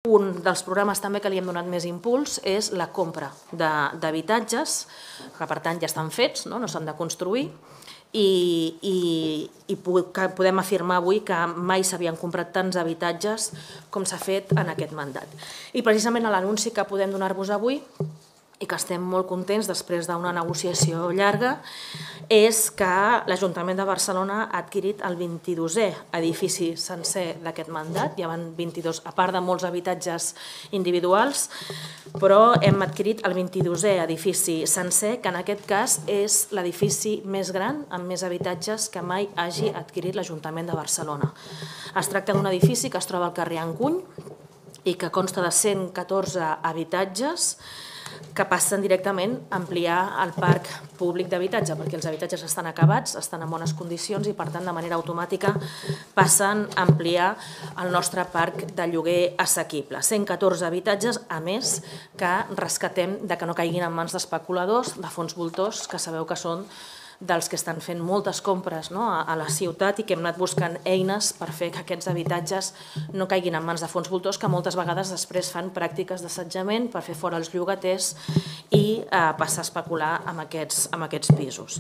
Un dels programes també que li hem donat més impuls és la compra d'habitatges, que per tant ja estan fets, no s'han de construir, i podem afirmar avui que mai s'havien comprat tants habitatges com s'ha fet en aquest mandat. I precisament l'anunci que podem donar-vos avui, i que estem molt contents després d'una negociació llarga, és que l'Ajuntament de Barcelona ha adquirit el 22è edifici sencer d'aquest mandat. Hi ha 22, a part de molts habitatges individuals, però hem adquirit el 22è edifici sencer, que en aquest cas és l'edifici més gran amb més habitatges que mai hagi adquirit l'Ajuntament de Barcelona. Es tracta d'un edifici que es troba al carrer Encuny i que consta de 114 habitatges que passen directament a ampliar el parc públic d'habitatge, perquè els habitatges estan acabats, estan en bones condicions i, per tant, de manera automàtica passen a ampliar el nostre parc de lloguer assequible. 114 habitatges, a més, que rescatem de que no caiguin en mans d'especuladors, de fons voltors, que sabeu que són dels que estan fent moltes compres a la ciutat i que hem anat buscant eines per fer que aquests habitatges no caiguin en mans de fons voltors, que moltes vegades després fan pràctiques d'assetjament per fer fora els llogaters i passar a especular amb aquests pisos.